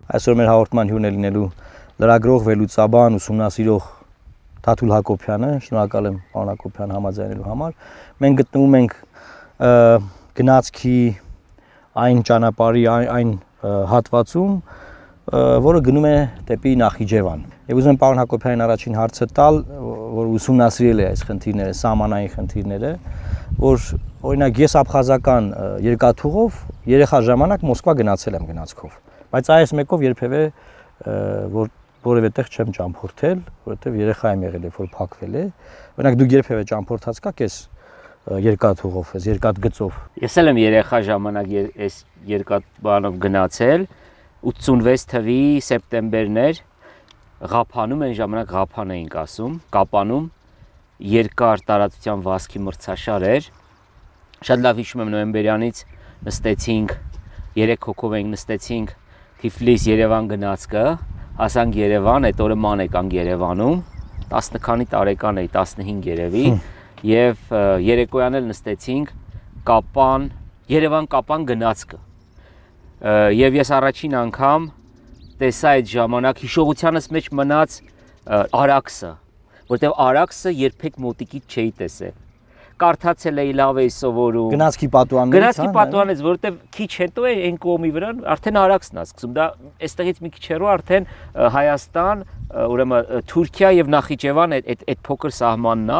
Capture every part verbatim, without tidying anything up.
Այսօր մեր հաղորդման հյուրն է լինելու լրագրող, վերլուծաբան, ուսումնասիրող Թաթուլ Հակոբյանը, շնորհակալ եմ պարոն Հակոբյան համաձայնելու համար։ Մենք գտնվում ենք գնացքի այն ճանապարհի այն հատվածում, որը գնում է դեպի Նախիջևան։ Եվ ուզում եմ պարոն Հակոբյանին առաջին հարցը տալ, որ ուսումնասիրել է այս խնդիրները, սահմանային խնդիրները, որ օրինակ ես աբխազական երկաթուղով երեխա ժամանակ Մոսկվա գնացել եմ գնացքով, բայց այս մեկով երբևէ որ որևէ տեղ չեմ ճամփորդել, որովհետև երեխա եմ եղել, երբ որ փակվել է։ Օրինակ դուք երբևէ ճամփորդած կաք այս երկաթուղով, այս երկաթգծով։ Ես էլ եմ երեխա ժամանակ այս երկաթբանով գնացել, ութսունվեց թվականի սեպտեմբերներ, Ղափանում այն ժամանակ Ղափան էինք ասում, Կապանում երկար տարածության վազքի մրցաշար էր։ Շատ լավ հիշում եմ նոյեմբերյանից նստեցինք, երեք հոգով ենք նստեցինք Թիֆլիս Երևան գնացքը, հասանք Երևան, այդ օրը ման եկանք Երևանում, տասը քանի տարեկան էի, տասնհինգ երևի, եւ երեկոյան էլ նստեցինք Կապան, Երևան-Կապան գնացքը։ Եվ ես առաջին անգամ տեսա այդ ժամանակ հիշողությանս մեջ մնաց Արաքսը, որտեղ Արաքսը երբեք մոտիկից չէի տեսել։ Կարդացել էի, լավ էի սովորում։ Գնացքի պատուհաններից, Գնացքի պատուհանից, որովհետև քիչ հետո է այն կողմի վրա արդեն Արաքսն է սկսում։ Դա այստեղից մի քիչ հեռու արդեն Հայաստան, ուրեմն Թուրքիա եւ Նախիջևան այդ այդ փոքր սահմանն է,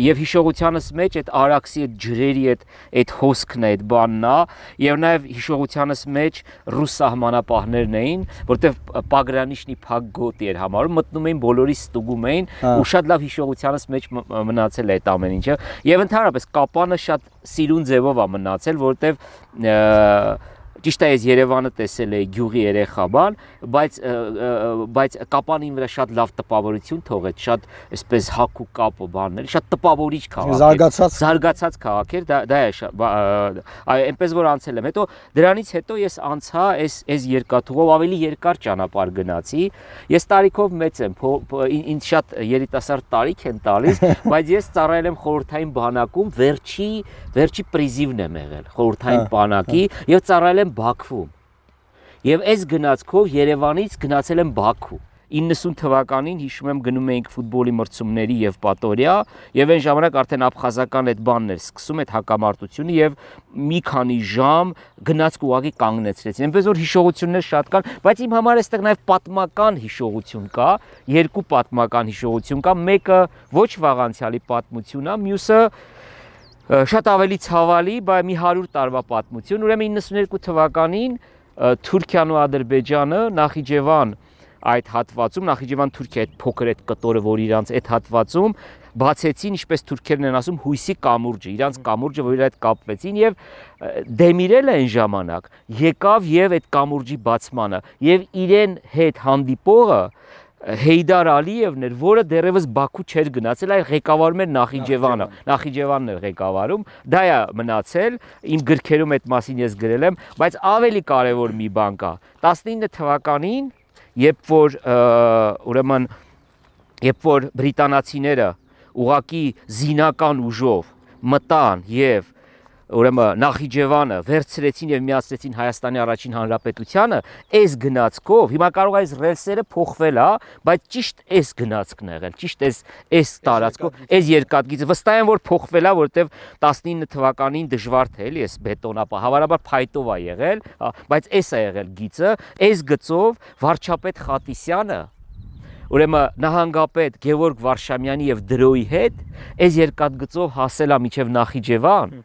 եւ հիշողությանս մեջ այդ Արաքսի այդ ջրերի այդ այդ հոսքն է, այդ բանն է, եւ նաեւ հիշողությանս մեջ ռուս սահմանապահներն էին, որտեղ Պագրանիշնի փակ գոտի էր համարում, մտնում էին բոլորի ստուգում էին, ու շատ լավ հիշողությանս մեջ մնացել է այդ ամեն ինչը։ Եվ ընդհանրապես Կապանը շատ սիրուն ձևով է մնացել, որտեղ ճիշտ է ես Երևանը տեսել էի գյուղի երեխա բան, բայց բայց Կապանին վրա շատ լավ տպավորություն թողեց, շատ այսպես հակ ու կապը բաններ, շատ տպավորիչ քաղաք էր, զարգացած զարգացած քաղաք էր, դա դա է, այ այնպես որ անցել եմ։ Հետո դրանից հետո ես անցա այս այս երկաթուղով ավելի երկար ճանապարհ գնացի։ Ես տարիքով մեծ եմ, ինձ շատ երիտասարդ տարիք են տալիս, բայց ես ծառայել եմ խորհրդային բանակում, վերջի վերջի պրիզիվն եմ եղել խորհրդային բանակի եւ ծառայել եմ Բաքվում։ Եվ այս գնացքով Երևանից գնացել եմ Բաքու։ իննսուն թվականին հիշում եմ գնում էինք ֆուտբոլի մրցումների եւ պատորիա, եւ այն ժամանակ արդեն աբխազական այդ բանն էր սկսում այդ հակամարտությունը եւ մի քանի ժամ գնացք ուղղակի կանգնեցրեցին։ Այնպես որ հիշողություններ շատ կան, բայց իմ համար այստեղ նաեւ պատմական հիշողություն կա, երկու պատմական հիշողություն կա, մեկը ոչ վաղանցյալի պատմություն է, մյուսը շատ ավելի ցավալի, բայց մի հարյուր տարվա պատմություն։ Ուրեմն իննսունյոթ թվականին Թուրքիան ու Ադրբեջանը Նախիջևան այդ հատվածում, Նախիջևան-Թուրքիա այդ փոքր այդ կտորը, որ իրանց այդ հատվածում բացեցին, ինչպես թուրքերն են ասում, հույսի կամուրջը, իրանց կամուրջը, որ իր հետ կապվեցին եւ Դեմիրելը այն ժամանակ եկավ եւ այդ կամուրջի բացմանը եւ իրեն հետ հանդիպողը Հեյդար Ալիևն էր, որը դեռևս Բաքու չէր գնացել, այլ ղեկավարում էր Նախիջևանը, Նախիջևանն էր ղեկավարում, դա է մնացել, իմ գրքերում այդ մասին ես գրել եմ, բայց ավելի կարևոր մի բան կա, տասնինը թվականին, երբ որ ուրեմն երբ որ բրիտանացիները ուղակի զինական ուժով մտան եւ ուրեմն Նախիջևանը վերցրեցին եւ միացրեցին Հայաստանի առաջին հանրապետությանը, այս գնացքով, հիմա կարող է այս ռելսերը փոխվել, հա, բայց ճիշտ այս գնացքն է եղել, ճիշտ այս այս տարածքով, այս երկաթգիծը վստահ եմ որ փոխվել է, որովհետեւ տասնինը թվականին դժվար թե էլի այս բետոնապա, հավանաբար փայտով է եղել, բայց այս է եղել գիծը, այս գծով վարչապետ Խատիսյանը ուրեմն նահանգապետ Գևորգ Վարշամյանի եւ Դրոյի հետ այս երկաթգծով հասել է մինչեւ Նախիջևան,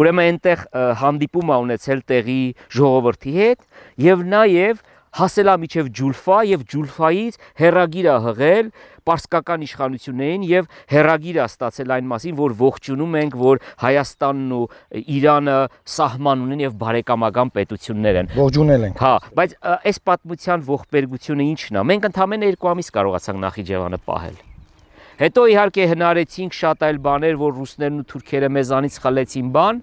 ուրեմն այնտեղ հանդիպում ա ունեցել տեղի ժողովրդի հետ եւ նաեւ հասել է մինչև Ջուլֆա եւ Ջուլֆայից հերագիր ա հղել պարսկական իշխանություններին եւ հերագիր ա ստացել այն մասին, որ ողջունում ենք, որ Հայաստանն ու Իրանը սահման ունեն եւ բարեկամական պետություններ են։ Ողջունել ենք։ Հա, բայց այս պատմության ողբերգությունը ի՞նչն է։ Մենք ընդամենը երկու ամիս կարողացանք Նախիջևանը պահել։ Հետո իհարկե հնարեցինք շատ այլ բաներ, որ ռուսներն ու թուրքերը մեզանից խլեցին բան,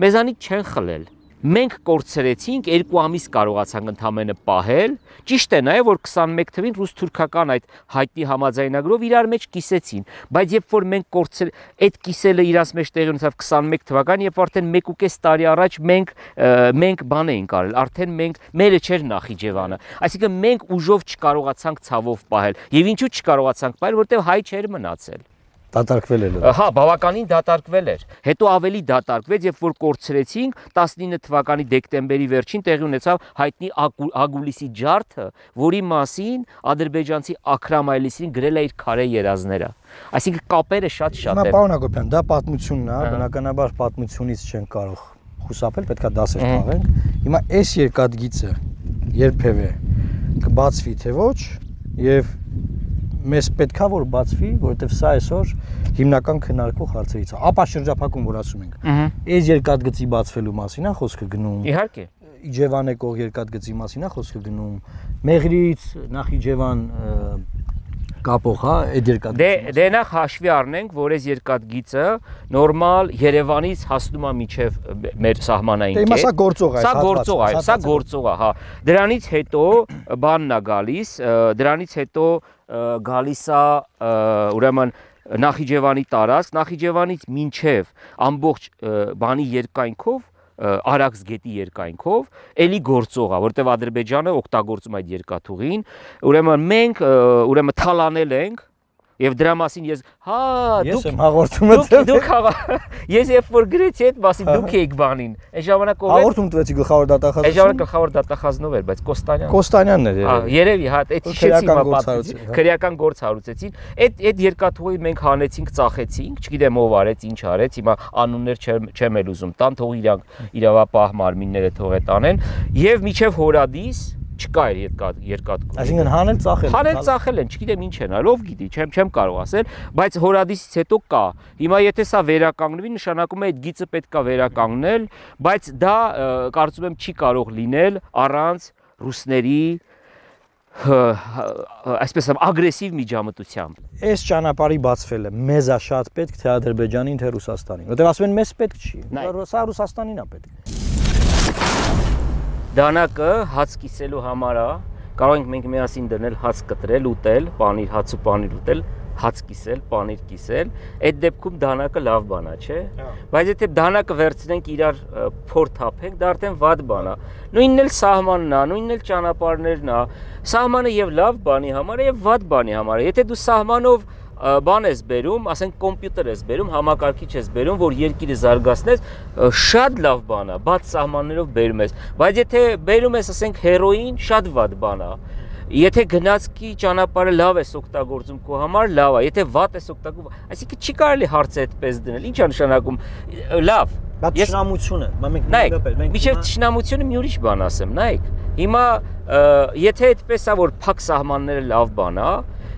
մեզանից չեն խլել։ մենք կորցրեցինք, երկու ամիս կարողացանք ընդամենը պահել։ Ճիշտ է նաև, որ քսանմեկ թվին ռուս-թուրքական այդ հայտնի համաձայնագրով իրար մեջ կիսեցին, բայց երբ որ մենք կորցրել, այդ կիսելը իրաց մեջ տեղի ունեցավ քսանմեկ թվական, երբ արդեն մեկ ու կես տարի առաջ մենք մենք բան էինք արել, արդեն մենք մերը չէր Նախիջևանը, այսինքն մենք ուժով չկարողացանք ցավով պահել, եւ ինչու չկարողացանք պահել, որտեղ հայ չէր մնացել։ Դատարկվել էր։ Հա, բավականին դատարկվել էր։ Հետո ավելի դատարկվեց, երբ որ կորցրեցինք տասնինը թվականի դեկտեմբերի վերջին տեղի ունեցավ հայտնի Ագուլիսի ջարդը, որի մասին ադրբեջանցի Աքրամ Այլիսին գրել է իր քարե երազները։ Այսինքն կապերը շատ-շատ են։ Հիմա պարոն Հակոբյան, դա պատմությունն է, բնականաբար պատմությունից չեն կարող խուսափել, պետքա դասեր քաղենք։ Հիմա այս երկաթգիծը երբևէ կբացվի թե ոչ, եւ մեզ պետքա որ բացվի, որովհետև սա այսօր հիմնական քննարկվող հարցերից է։ Ապա շրջափակում որ ասում ենք։ Այս երկաթգծի բացվելու մասին է խոսքը գնում։ Իհարկե։ Իջևան եկող երկաթգծի մասին է խոսքը գնում։ Մեղրից Նախիջևան կապող, հա, այդ երկաթգծը։ Դե դե նախ հաշվի առնենք, որ այս երկաթգիծը նորմալ Երևանից հասնում է մինչև մեր սահմանային կետ։ Դե սա գործող է, սա գործող է, սա գործող է, հա։ Դրանից հետո բանն է գալիս, դրանից հետո գալիս է ուրեմն Նախիջևանի տարածք, Նախիջևանից մինչև ամբողջ բանի երկայնքով Արաքս գետի երկայնքով էլի գործող է, որտեղ Ադրբեջանը օգտագործում այդ երկաթուղին, ուրեմն մենք ուրեմն թալանել ենք եւ դրա մասին ես հա դուք եմ հաղորդում եմ դուք ես երբ որ գրեցի այդ մասին դուք եք բանին այս ժամանակ ով հաղորդում տվեցի գլխավոր դատախազը այս ժամանակ գլխավոր դատախազնով էր բայց Կոստանյան Կոստանյանն էր երևի հա այդ հիշեցի հիմա պատմեցի քրեական գործ հարուցեցին այդ այդ երկաթուղի մենք հանեցինք ծախեցինք չգիտեմ ով արեց ինչ արեց հիմա անուններ չեմ էլ ուզում տան թող իրանք իրավապահ մարմինները թող է տանեն եւ միջև հորադիս չկա էր երկաթ երկաթ այսինքն հանել ծախել հանել ծախել են չգիտեմ ինչ են արել ով գիտի չեմ չեմ կարող ասել բայց հորադիսից հետո կա հիմա եթե սա վերականգնվի նշանակում է այդ գիծը պետք է վերականգնել բայց դա կարծում եմ չի կարող լինել առանց ռուսների այսպես ասեմ ագրեսիվ միջամտությամբ այս ճանապարհի բացվելը մեզ է շատ պետք թե Ադրբեջանին թե Ռուսաստանին որտեղ ասում են մեզ պետք չի սա Ռուսաստանին է պետք Դանակը հաց կիսելու համար է, կարող ենք մենք միասին դնել հաց կտրել, ուտել, պանիր, հաց ու պանիր ուտել, հաց կիսել, պանիր կիսել, այդ դեպքում դանակը լավ բան է, չէ՞։ Բայց եթե դանակը վերցնենք իրար փոր թափենք, դա արդեն վատ բան է։ Նույնն էլ սահմանն է, նույնն էլ ճանապարհներն է։ Սահմանը եւ լավ բանի համար է եւ վատ բանի համար է։ Եթե դու սահմանով բան ես բերում, ասենք կոմպյուտեր ես բերում, համակարգիչ ես բերում, որ երկիրը զարգացնես, շատ լավ բան է, բաց սահմաններով բերում ես, բայց եթե բերում ես, ասենք հերոին, շատ վատ բան է։ Եթե գնացքի ճանապարհը լավ ես օգտագործում քո համար, լավ է, եթե վատ ես օգտագործում, այսինքն չի կարելի հարցը այդպես դնել, ի՞նչ է նշանակում, լավ։ Դա ճշնամությունը, մենք մենք միջև ճշնամությունը մի ուրիշ բան ասեմ, նայեք։ Հիմա եթե այդպես է, որ փակ սահմանները լավ բան է,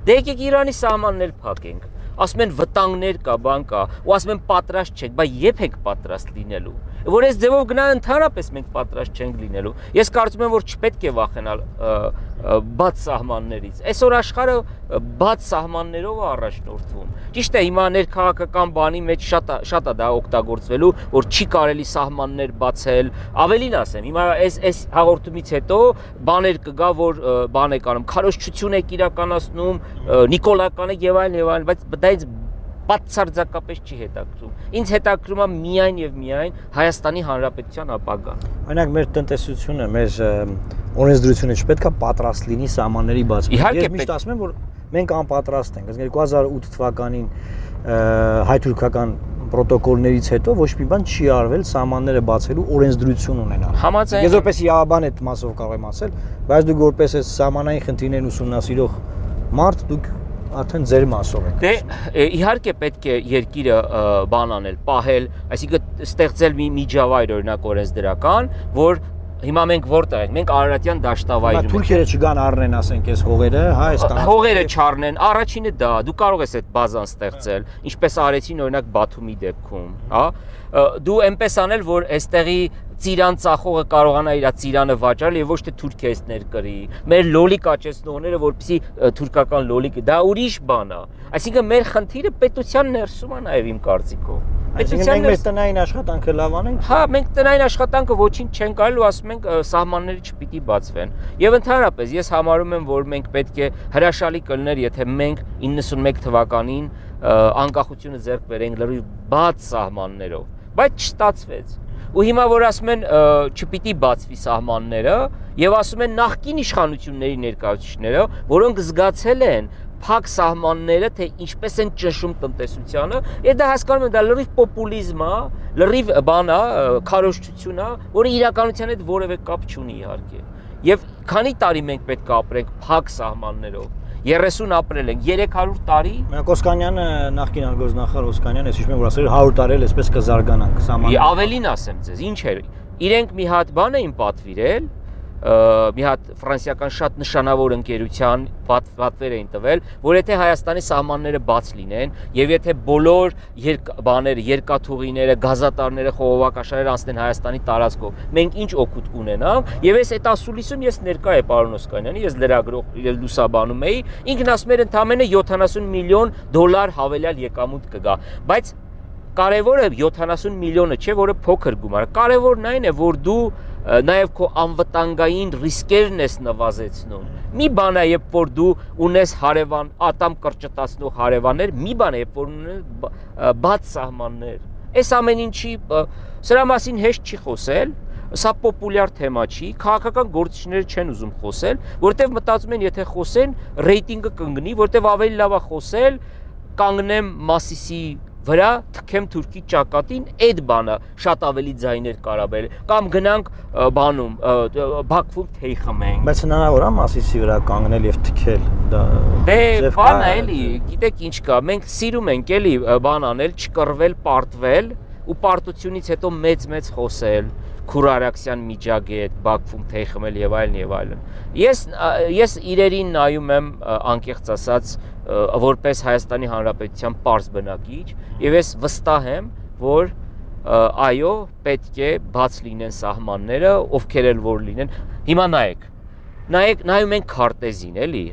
դե եկեք Իրանի սահմաններ փակենք, ասում են վտանգներ կա, բան կա, ու ասում են պատրաստ չեք, բայց երբ եք պատրաստ լինելու, որ այս ձևով գնա ընդհանրապես մենք պատրաստ չենք լինելու, ես կարծում եմ, որ չպետք է վախենալ բաց սահմաններից, այսօր աշխարհը բաց սահմաններով է առաջնորդվում, ճիշտ է հիմա ներքաղաքական բանի մեջ շատ շատ է դա օգտագործվելու, որ չի կարելի սահմաններ բացել, ավելին ասեմ, հիմա այս այս հաղորդումից հետո բաներ կգա, որ բան եք անում, քարոզչություն եք իրականացնում, նիկոլական եք եւ այլն եւ այլն, բայց դա ինձ բացարձակապես չի հետաքրում։ Ինձ հետաքրում է միայն եւ միայն Հայաստանի Հանրապետության ապագան։ Օրինակ մեր տնտեսությունը, մեր օրենսդրությունը չպետք է պատրաստ լինի սահմանների բացման։ Ես միշտ ասում եմ, որ մենք անպատրաստ ենք։ երկու հազար ութ թվականին հայ-թուրքական պրոտոկոլներից հետո ոչ մի բան չի արվել սահմանները բացելու օրենսդրություն ունենալ։ Համաձայն։ Ես որպես իրավաբան այդ մասով կարող եմ ասել, բայց դուք որպես այս սահմանային խնդիրներն ուսումնասիրող մարդ դուք արդեն ձեր մասով եք։ Դե իհարկե պետք է երկիրը բան անել, պահել, այսինքն ստեղծել մի միջավայր օրինակ օրենսդրական, որ հիմա մենք որտեղ ենք, մենք Արարատյան դաշտավայրում ենք։ Թուրքերը չգան առնեն, ասենք, այս հողերը, հա, այս տան։ Հողերը չառնեն, առաջինը դա, դու կարող ես այդ բազան ստեղծել, ինչպես արեցին օրինակ Բաթումի դեպքում, հա։ Դու այնպես անել, որ այստեղի ծիրան ծախողը կարողանա իր ծիրանը վաճառել եւ ոչ թե Թուրքիա էս ներկրի։ Մեր լոլիկ աճեցնողները, որպեսզի թուրքական լոլիկը, դա ուրիշ բան է։ Այսինքն մեր խնդիրը պետության ներսում է նաեւ իմ կարծիքով։ Պետության մենք տնային աշխատանքը լավ անենք։ Հա, մենք տնային աշխատանքը ոչինչ չենք արել ու ասում ենք սահմանները չպիտի բացվեն։ Եվ ընդհանրապես ես համարում եմ, որ մենք պետք է հրաշալի կլներ, եթե մենք իննսունմեկ թվականին անկախությունը ձեռք բերենք լրիվ բաց սահմաններով, բայց չստացվեց։ Ու հիմա որ ասում են չպիտի բացվի սահմանները եւ ասում են նախկին իշխանությունների ներկայացուցիչները, որոնք զգացել են փակ սահմանները, թե ինչպես են ճնշում տնտեսությանը, եւ դա հասկանում են, դա լրիվ պոպուլիզմ է, լրիվ բան է, քարոզչություն է, որը իրականության հետ որևէ կապ չունի իհարկե։ Եվ քանի տարի մենք պետք է ապրենք փակ սահմաններով։ երեսուն ապրել ենք, երեք հարյուր տարի։ Մենք Օսկանյանը նախկին արտգործնախարար Օսկանյանը, ես հիշում եմ, որ ասել էր հարյուր տարի էլ այսպես կզարգանանք սահմանները։ Ավելին ասեմ ձեզ, ինչ էր։ Իրենք մի հատ բան էին պատվիրել, մի հատ ֆրանսիական շատ նշանավոր ընկերության պատվեր էին տվել, որ եթե Հայաստանի սահմանները բաց լինեն եւ եթե բոլոր բաները, երկաթուղիները, գազատարները, խողովակաշարերը անցնեն Հայաստանի տարածքով, մենք ինչ օգուտ կունենանք, եւ այս այդ ասուլիսում ես ներկա եմ պարոն Օսկանյանի, ես լրագրող եւ լուսաբանում էի, ինքն ասում էր ընդամենը յոթանասուն միլիոն դոլար հավելյալ եկամուտ կգա, բայց կարևորը յոթանասուն միլիոնը չէ, որը փոքր գումար է, կարևորն այն է, որ դու նաև քո անվտանգային ռիսկերն ես նվազեցնում։ Մի բան է, երբ որ դու ունես հարևան, ատամ կրճտացնող հարևաններ, մի բան է, երբ որ ունես բաց սահմաններ։ Այս ամեն ինչի սրա մասին հեշտ չի խոսել, սա պոպուլյար թեմա չի, քաղաքական գործիչները չեն ուզում խոսել, որտեվ մտածում են, եթե խոսեն, ռեյտինգը կընկնի, որտեվ ավելի լավ է խոսել, կանգնեմ Մասիսի վրա թքեմ Թուրքի ճակատին, այդ բանը շատ ավելի ձայներ կարաբել, կամ գնանք բանում, Բաքվում թեյ խմենք։ Բայց հնարավոր է Մասիսի վրա կանգնել եւ թքել, դա դե բան է էլի, գիտեք ինչ կա, մենք սիրում ենք էլի բան անել, չկռվել, պարտվել ու պարտությունից հետո մեծ-մեծ խոսել, Քուրարաքսյան միջագետ, Բաքվում թեյ խմել եւ այլն եւ այլն։ Ես ես իրերին նայում եմ անկեղծ ասած որպես Հայաստանի Հանրապետության պարզ բնակիչ եւ ես վստահ եմ, որ այո, պետք է բաց լինեն սահմանները, ովքեր էլ որ լինեն։ Հիմա նայեք։ Նայեք, նայում ենք քարտեզին, էլի։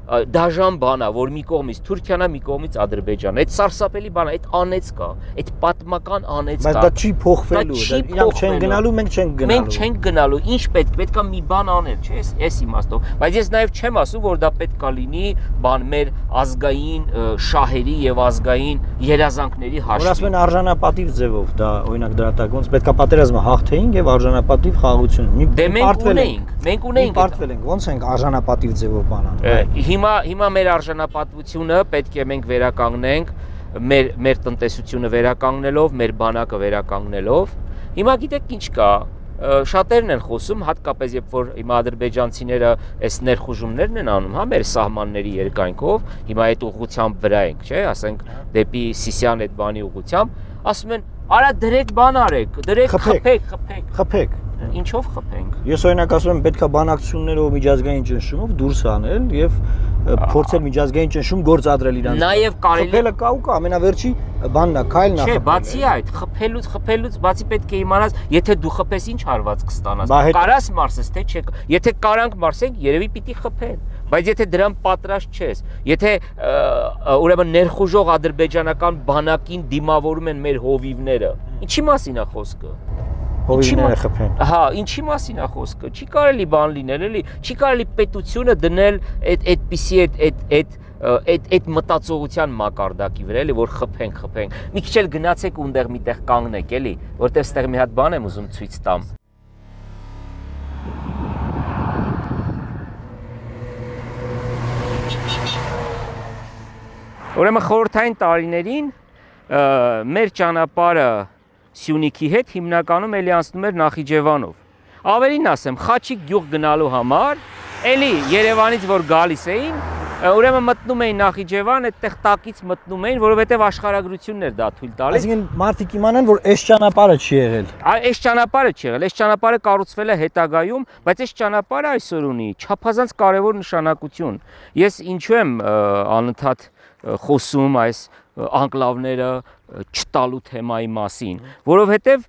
Դաժան բան է, որ մի կողմից Թուրքիան է, մի կողմից Ադրբեջանը։ Այդ սարսափելի բան է, այդ անեց կա, այդ պատմական անեց կա։ Բայց դա չի փոխվելու, իրանք չեն գնալու, մենք չենք գնալու։ Մենք չենք գնալու, ինչ պետք, պետքա մի բան անել, չէ՞, էս իմաստով։ Բայց ես նաև չեմ ասում, որ դա պետքա լինի բան մեր ազգային շահերի եւ ազգային երազանքների հաշվին։ Որ ասում են արժանապատիվ ձևով, դա օրինակ դրատակ ոնց պետքա պատերազմը հաղթեինք եւ արժանապատիվ խաղաղություն։ Դե մենք ունեինք, մենք ունեինք։ Պարտվել ենք, ոնց ենք արժանապատիվ ձևով բան անում։ Հիմա հիմա մեր արժանապատվությունը պետք է մենք վերականգնենք, մեր մեր տնտեսությունը վերականգնելով, մեր բանակը վերականգնելով։ Հիմա գիտեք ինչ կա, շատերն են խոսում, հատկապես երբ որ հիմա ադրբեջանցիները այս ներխուժումներն են անում, հա, մեր սահմանների երկայնքով, հիմա այդ ուղղությամբ վրա ենք, չէ, ասենք դեպի Սիսիան այդ բանի ուղղությամբ, ասում են, արա դրեք բան արեք, դրեք խփեք, խփեք, խփեք։ Ինչով խփենք։ Ես օրինակ ասում եմ, պետքա բանակցություններով միջազգային ճնշումով դուրս անել եւ փորձել միջազգային ճնշում գործադրել իրանց։ Նաեւ կարելի խփելը կա ու կա, ամենավերջի բանն է, քայլն է։ Չէ, բացի այդ, խփելուց, խփելուց բացի պետք է իմանաս, եթե դու խփես ինչ հարված կստանաս։ Կարաս մարսես, թե չէ։ Եթե կարանք մարսենք, երևի պիտի խփեն։ Բայց եթե դրան պատրաստ չես, եթե ուրեմն ներխուժող ադրբեջանական բանակին դիմավորում են մեր հովիվները, ինչի մասին է խոսքը։ Հովիվները խփեն։ Հա, ինչի մասին է խոսքը։ Չի կարելի բան լինել, էլի, չի կարելի պետությունը դնել այդ այդպիսի այդ այդ այդ այդ մտածողության մակարդակի վրա, էլի, որ խփենք, խփենք։ Մի քիչ էլ գնացեք ունդեղ միտեղ կանգնեք, էլի, որտեղ ստեղ մի հատ բան եմ ուզում ցույց տամ։ Ուրեմն խորհրդային տարիներին մեր ճանապարհը Սյունիքի հետ հիմնականում էլի անցնում էր Նախիջևանով։ Ավելին ասեմ, Խաչիկ գյուղ գնալու համար, էլի Երևանից որ գալիս էին, ուրեմն մտնում էին Նախիջևան, այդտեղ տակից մտնում էին, որովհետև աշխարհագրությունն էր դա թույլ տալիս։ Այսինքն մարդիկ իմանան, որ այս ճանապարհը չի եղել։ Այս ճանապարհը չի եղել, այս ճանապարհը կառուցվել է հետագայում, բայց այս ճանապարհը այսօր ունի չափազանց կարևոր նշանակություն։ Ես ինչու եմ անընդհատ խոսում այս անկլավները չտալու թեմայի մասին, որովհետև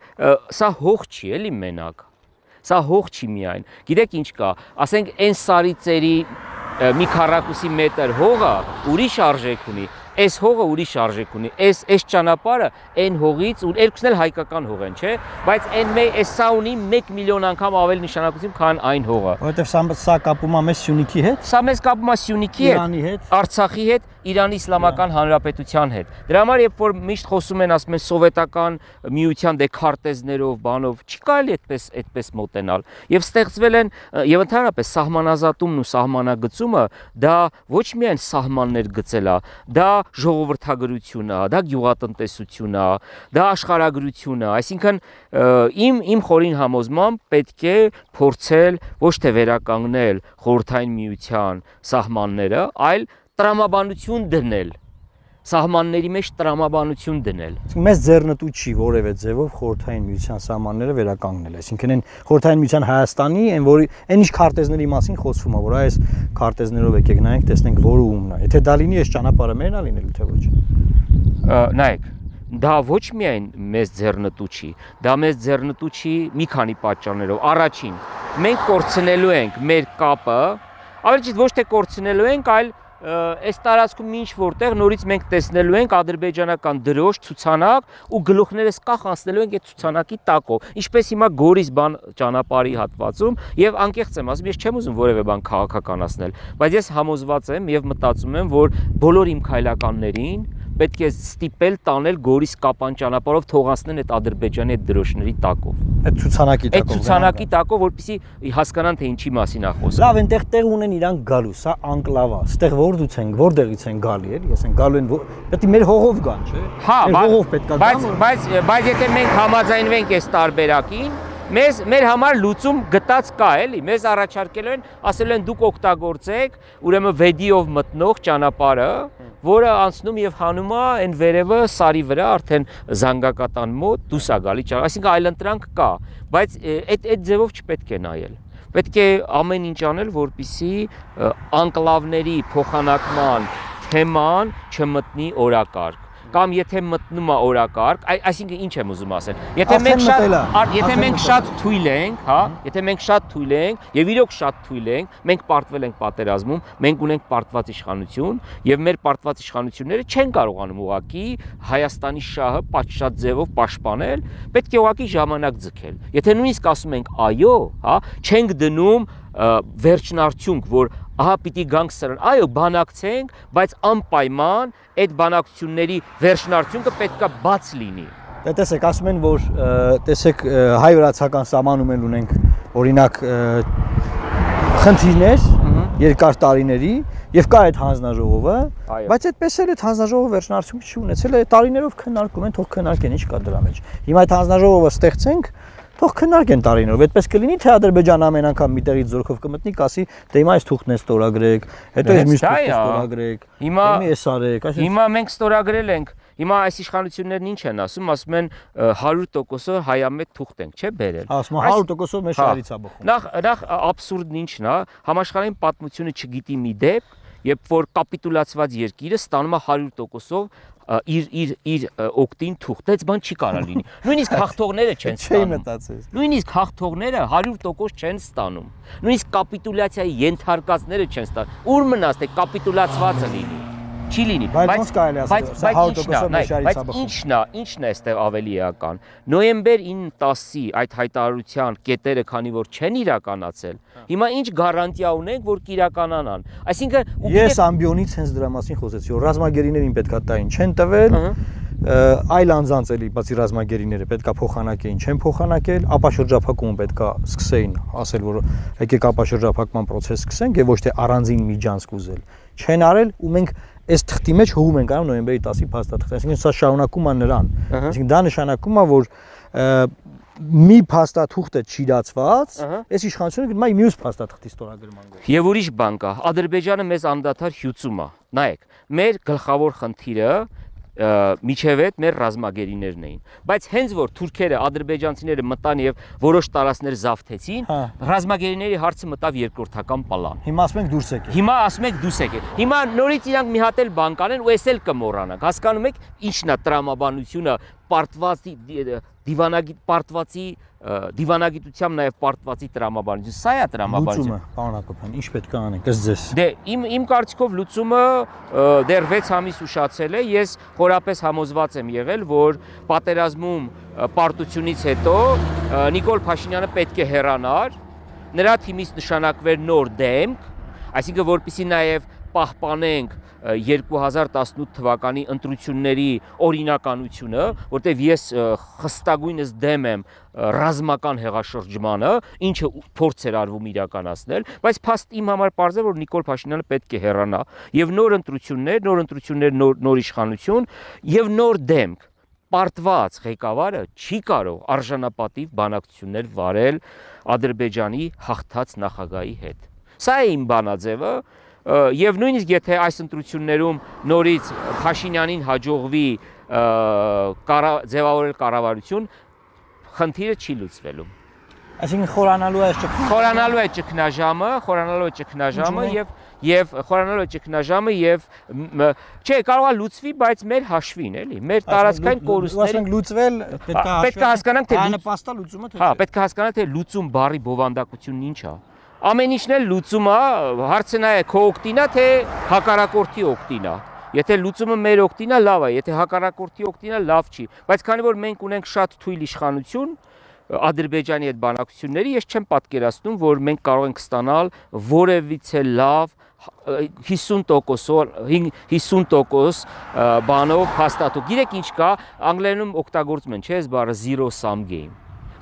սա հող չի էլի մենակ, սա հող չի միայն, գիտեք ինչ կա, ասենք այն սարի ծերի մի քառակուսի մետր հողը ուրիշ արժեք ունի, այս հողը ուրիշ արժեք ունի, այս այս ճանապարհը այն հողից, ու երկուսն էլ հայկական հող են, չէ, բայց այն մե այս սա ունի մեկ միլիոն անգամ ավելի նշանակություն, քան այն հողը։ Որովհետև սա սա կապում է մեզ Սյունիքի հետ, Սա մեզ կապում է Սյունիքի հետ, Արցախի հետ, Իրանի Իսլամական Հանրապետության հետ։ Դրա համար երբ որ միշտ խոսում են, ասում են սովետական միության դե քարտեզներով, բանով, չի կարելի այդպես այդպես մոտենալ։ Եվ ստեղծվել են եւ ընդհանրապես սահմանազատումն ու սահմանագծումը դա ոչ միայն սահմաններ գծել է, դա ժողովրդագրություն է, դա գյուղատնտեսություն է, դա աշխարհագրություն է, այսինքն իմ իմ խորին համոզմամբ պետք է փորձել ոչ թե վերականգնել խորհրդային միության սահմանները, այլ տրամաբանություն դնել, սահմանների մեջ տրամաբանություն դնել։ Մեզ ձեռնտու չի որևէ ձևով խորհրդային միության սահմանները վերականգնել, այսինքն այն խորհրդային միության Հայաստանի, այն որի այն ինչ քարտեզների մասին խոսվում է, որ այս քարտեզներով եկեք նայենք, տեսնենք որը ումն է։ Եթե դա լինի, այս ճանապարհը մերն է լինելու թե ոչ։ Նայեք, դա ոչ միայն մեզ ձեռնտու չի, դա մեզ ձեռնտու չի մի քանի պատճառներով։ Առաջին, մենք կորցնելու ենք մեր կապը, ավելի ճիշտ ոչ թե կորցնելու ենք, այլ այս տարածքում ինչ որտեղ նորից մենք տեսնելու ենք ադրբեջանական դրոշ, ցուցանակ ու գլուխներս կախ անցնելու ենք այդ ցուցանակի տակով։ Ինչպես հիմա Գորիս բան ճանապարհի հատվածում եւ անկեղծ եմ ասում, ես չեմ ուզում որևէ բան քաղաքականացնել, բայց ես համոզված եմ եւ մտածում եմ, որ բոլոր իմ քայլականներին պետք է ստիպել տանել Գորիս կապան ճանապարհով թողանցնեն այդ Ադրբեջանի այդ դրոշների տակով։ Այդ ցուցանակի տակով։ Այդ ցուցանակի տակով, որպեսզի հասկանան թե ինչի մասին է խոսքը։ Լավ, այնտեղ տեղ ունեն իրանք գալու, սա անկլավ է։ Ստեղ որդուց են, որտեղից են գալի, էլի, ես են գալու են, պետք է մեր հողով գան, չէ՞։ Հա, հողով պետք է բայց բայց բայց եթե մենք համաձայնվենք այս տարբերակին, մեզ մեր համար լուծում գտած կա, էլի, մեզ առաջարկելու են, ասել են դուք օգտագործեք, ուրեմն վեդիով մտնող ճանապարհը, որը անցնում եւ հանում է այն վերևը սարի վրա արդեն զանգակատան մոտ դուրս է գալի, այսինքն այլընտրանք կա, բայց այդ այդ ձևով չպետք է նայել։ Պետք է ամեն ինչ անել, որպեսզի անկլավների փոխանակման թեման չմտնի օրակարգ։ Կամ եթե մտնում է օրակարգ, այսինքն ինչ եմ ուզում ասել, եթե մենք շատ եթե մենք շատ թույլ ենք, հա, եթե մենք շատ թույլ ենք եւ իրոք շատ թույլ ենք, մենք պարտվել ենք պատերազմում, մենք ունենք պարտված իշխանություն եւ մեր պարտված իշխանությունները չեն կարողանում ուղակի Հայաստանի շահը պատշաճ ձևով պաշտպանել, պետք է ուղակի ժամանակ ձգել։ Եթե նույնիսկ ասում ենք այո, հա, չենք դնում վերջնարդյունք, որ ահա պիտի գանք սրան, այո, բանակցենք, բայց անպայման այդ բանակցությունների վերջնարդյունքը պետքա բաց լինի։ Դե տեսեք, ասում են, որ տեսեք հայ-վրացական սահմանում են ունենք օրինակ խնդիրներ երկար տարիների եւ կա այդ հանձնաժողովը, բայց այդպես էլ այդ հանձնաժողովը վերջնարդյունք չի ունեցել, է տարիներով քննարկում են, թող քննարկեն, ինչ կա դրա մեջ։ Հիմա այդ հանձնաժողովը ստեղծենք, թող քննարկեն տարիներով, այդպես կլինի, թե Ադրբեջանը ամեն անգամ մի տեղից զորքով կմտնի, կասի, դե հիմա այս թուղթն է ստորագրեք, հետո այս մյուս թուղթը ստորագրեք, հիմա էս արեք, այսինքն հիմա մենք ստորագրել ենք, հիմա այս իշխանություններն ինչ են ասում, ասում են հարյուր տոկոսով հայամետ թուղթ ենք, չէ՞ բերել։ Ասում հարյուր տոկոսով մեր շահերից է բխում։ Նախ նախ աբսուրդն ինչն է, համաշխարհային պատմությունը չգիտի մի դեպք, երբ որ կապիտուլացված երկիրը ստանում է հարյուր տոկոսով իր իր իր օկտին թուղթ, դից բան չի կարա լինի։ Նույնիսկ հաղթողները չեն ստանում։ Նույնիսկ հաղթողները հարյուր տոկոս չեն ստանում։ Նույնիսկ կապիտուլյացիայի ենթարկածները չեն ստանում։ Ուր մնաց թե կապիտուլացվածը լինի։ Չի լինի, բայց բայց ինչն է, ինչն է այստեղ ավելի էական։ Նոյեմբեր ինը-տասի այդ հայտարարության կետերը, քանի որ չեն իրականացել, հիմա ինչ գարանտիա ունենք, որ կիրականանան։ Այսինքն ես ամբիոնից հենց դրա մասին խոսեցի, որ ռազմագերիներին պետքա տային, չեն տվել, այլ անձանց էլի, բացի ռազմագերիները պետքա փոխանակեին, չեն փոխանակել, ապա շրջափակումը պետքա սկսեին, ասել, որ եկեք ապա շրջափակման process սկսենք եւ ոչ թե առանձին միջանցք ուզել։ Չեն արել ու մենք այս թղթի մեջ հողում ենք անում նոյեմբերի տասի փաստաթղթը, այսինքն սա շարունակում է նրան։ Այսինքն դա նշանակում է, որ մի փաստաթուղթը չիրացված, այս իշխանությունը գնում է մյուս փաստաթղթի ստորագրման գործ։ Եվ ուրիշ բան կա, Ադրբեջանը մեզ անդադար հյուծում է։ Նայեք, մեր գլխավոր խնդիրը միջև այդ մեր ռազմագերիներն էին, բայց հենց որ թուրքերը, ադրբեջանցիները մտան եւ որոշ տարածքներ զավթեցին, ռազմագերիների հարցը մտավ երկրորդական պլան։ Հիմա ասում ենք դուրս եկեք։ Հիմա ասում ենք դուրս եկեք։ Հիմա նորից իրանք մի հատ էլ բան կանեն ու էս էլ կմոռանանք։ Հասկանում եք, ինչն է տրամաբանությունը պարտվածի դիվանագիտ պարտվածի դիվանագիտությամբ նաև պարտվածի տրամաբանություն, սա է տրամաբանությունը։ Լուծումը, պարոն Հակոբյան, ինչ պետք է անենք, ըստ ձեզ։ Դե իմ իմ կարծիքով լուծումը դեռ վեց ամիս ուշացել է, ես խորապես համոզված եմ եղել, որ պատերազմում պարտությունից հետո Նիկոլ Փաշինյանը պետք է հեռանար, նրա թիմից նշանակվեր նոր դեմք, այսինքն որպեսզի նաև պահպանենք երկու հազար տասնութ թվականի ընտրությունների օրինականությունը, որտեղ ես խստագույնս դեմ եմ ռազմական հեղաշրջմանը, ինչը փորձ էր արվում իրականացնել, բայց փաստ իմ համար պարզ է, որ Նիկոլ Փաշինյանը պետք է հեռանա եւ նոր ընտրություններ, նոր ընտրություններ, նոր նոր իշխանություն եւ նոր դեմք պարտված ղեկավարը չի կարող արժանապատիվ բանակցություններ վարել Ադրբեջանի հաղթած նախագահի հետ։ Սա է իմ բանաձևը եւ նույնիսկ եթե այս ընտրություններում նորից Փաշինյանին հաջողվի ձևավորել կառավարություն, խնդիրը չի լուծվելու։ Այսինքն խորանալու է ճգնաժամը։ Խորանալու է ճգնաժամը, խորանալու է ճգնաժամը եւ եւ խորանալու է ճգնաժամը եւ չէ, կարող է լուծվի, բայց մեր հաշվին, էլի, մեր տարածքային կորուստների։ Ասենք լուծվել, պետք է հասկանանք, թե նպաստա լուծումը թե։ Հա, պետք է հասկանանք, թե լուծում բառի բովանդակությունն ինչ է։ Ամեն ինչն էլ լուծում է, հարցը նա է քո օգտին է, թե հակառակորդի օգտին է։ Եթե լուծումը մեր օգտին է, լավ է, եթե հակառակորդի օգտին է, լավ չի։ Բայց քանի որ մենք ունենք շատ թույլ իշխանություն Ադրբեջանի հետ բանակցությունների, ես չեմ պատկերացնում, որ մենք կարող ենք ստանալ որևիցե լավ հիսուն տոկոս բանով հաստատող։ Գիտեք ինչ կա, անգլերենում օգտագործում են, չէ՞, այս բառը zero sum game։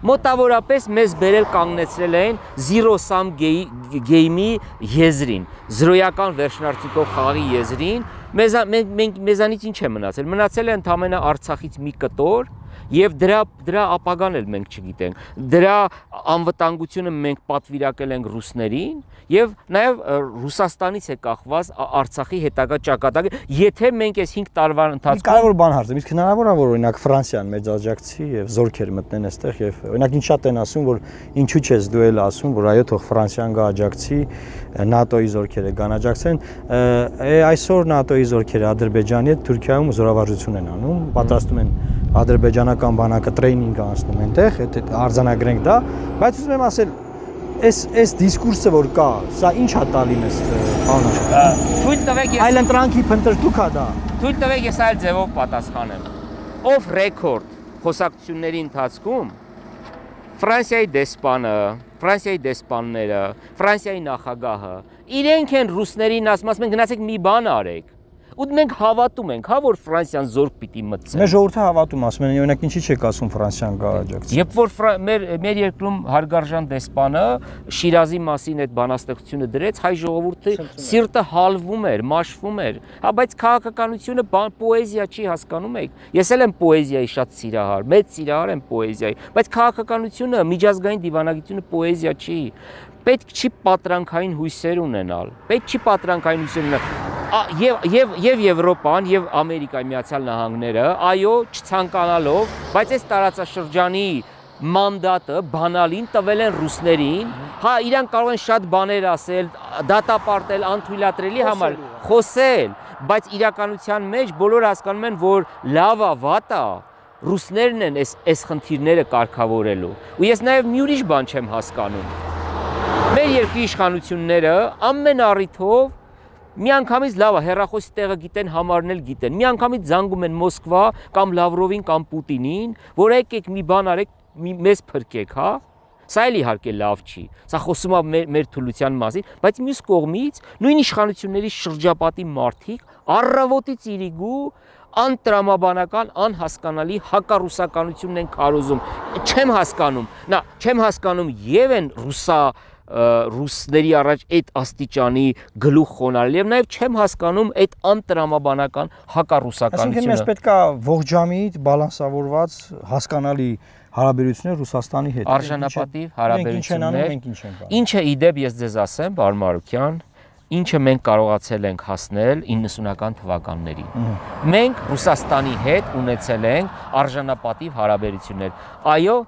Մոտավորապես մեզ բերել կանգնեցրել են zero sum game-ի եզրին, զրոյական վերջնարդյունքով խաղի եզրին, մեզանից ինչ է մնացել։ Մնացել է ընդամենը Արցախից մի կտոր եւ դրա դրա ապագան էլ մենք չգիտենք։ Դրա անվտանգությունը մենք պատվիրակել ենք ռուսներին եւ նաեւ Ռուսաստանից է կախված Արցախի հետագա ճակատագիրը, եթե մենք այս հինգ տարվա ընթացքում կարևոր բան հարցը, իսկ հնարավոր է որ օրինակ Ֆրանսիան մեծ աջակցի եւ զորքեր մտնեն այստեղ եւ օրինակ ինչ շատ են ասում, որ ինչու՞ չես դու էլ ասում, որ այո, թող Ֆրանսիան գա աջակցի, ՆԱՏՕ-ի զորքերը կան աջակցեն, այսօր ՆԱՏՕ-ի զորքերը Ադրբեջանի հետ Թուրքիայում զորավարժություն են անում, պատրաստում են ադրբեջանական բանակը տրեյնինգ անցնում այնտեղ, այդ արձանագրենք դա, բայց ուզում եմ ասել, այս այս դիսկուրսը որ կա, սա ինչ է տալի մեզ, պարոն։ Թույլ տվեք ես այլ ընտրանքի փնտրտուք է դա։ Թույլ տվեք ես այլ ձևով պատասխանեմ։ Off record խոսակցությունների ընթացքում Ֆրանսիայի դեսպանը, Ֆրանսիայի դեսպանները, Ֆրանսիայի նախագահը իրենք են ռուսներին ասում, ասում են գնացեք մի բան արեք։ Ու մենք հավատում ենք, հա, որ Ֆրանսիան զորք պիտի մտցնի։ Մեր ժողովուրդը հավատում, ասում են, օրինակ ինչի՞ չեք ասում Ֆրանսիան գա աջակցի։ Երբ որ մեր մեր երկրում հարգարժան դեսպանը Շիրազի մասին այդ բանաստեղծությունը դրեց, հայ ժողովուրդը սիրտը հալվում էր, մաշվում էր։ Հա, բայց քաղաքականությունը պոեզիա չի, հասկանում եք։ Ես էլ եմ պոեզիայի շատ սիրահար, մեծ սիրահար եմ պոեզիայի, բայց քաղաքականությունը, միջազգային դիվանագիտությունը պոեզիա չի։ Պետք չի պատրանքային հույսեր ունենալ։ Պետք չի պատրանքային հույսեր ունենալ։ Եվ եւ եւ Եվրոպան եւ Ամերիկայի Միացյալ Նահանգները, այո, չցանկանալով, բայց այս տարածաշրջանի մանդատը բանալին տվել են ռուսներին, հա, իրանք կարող են շատ բաներ ասել, դատապարտել, անթույլատրելի համար, խոսել, բայց իրականության մեջ բոլորը հասկանում են, որ լավա, վատա, ռուսներն են այս այս խնդիրները կարգավորելու։ Ու ես նաեւ մի ուրիշ բան չեմ հասկանում։ Մեր երկրի իշխանությունները ամեն առիթով միանգամից լավ է, հեռախոսի տեղը գիտեն, համարն էլ գիտեն։ Միանգամից զանգում են Մոսկվա կամ Լավրովին կամ Պուտինին, որ եկեք մի բան արեք, մեզ փրկեք, հա։ Սա էլ իհարկե լավ չի։ Սա խոսում է մեր, մեր թուլության մասին, բայց մյուս կողմից նույն իշխանությունների շրջապատի մարդիկ առավոտից իրիկու անտրամաբանական, անհասկանալի հակառուսականությունն են քարոզում։ Չեմ հասկանում, նա չեմ հասկանում եւ են ռուսա ռուսների առաջ այդ աստիճանի գլուխ խոնարհել եւ նաեւ չեմ հասկանում այդ անտրամաբանական հակառուսականությունը։ Այսինքն մեզ պետք է ողջամիտ, բալանսավորված, հասկանալի հարաբերություններ Ռուսաստանի հետ։ Արժանապատիվ հարաբերություններ։ Մենք ինչ ենք անում։ Ինչը իդեպ ես ձեզ ասեմ, պարոն Մարուկյան, ինչը մենք կարողացել ենք հասնել իննսունական թվականներին։ Մենք Ռուսաստանի հետ ունեցել ենք արժանապատիվ հարաբերություններ։ Այո,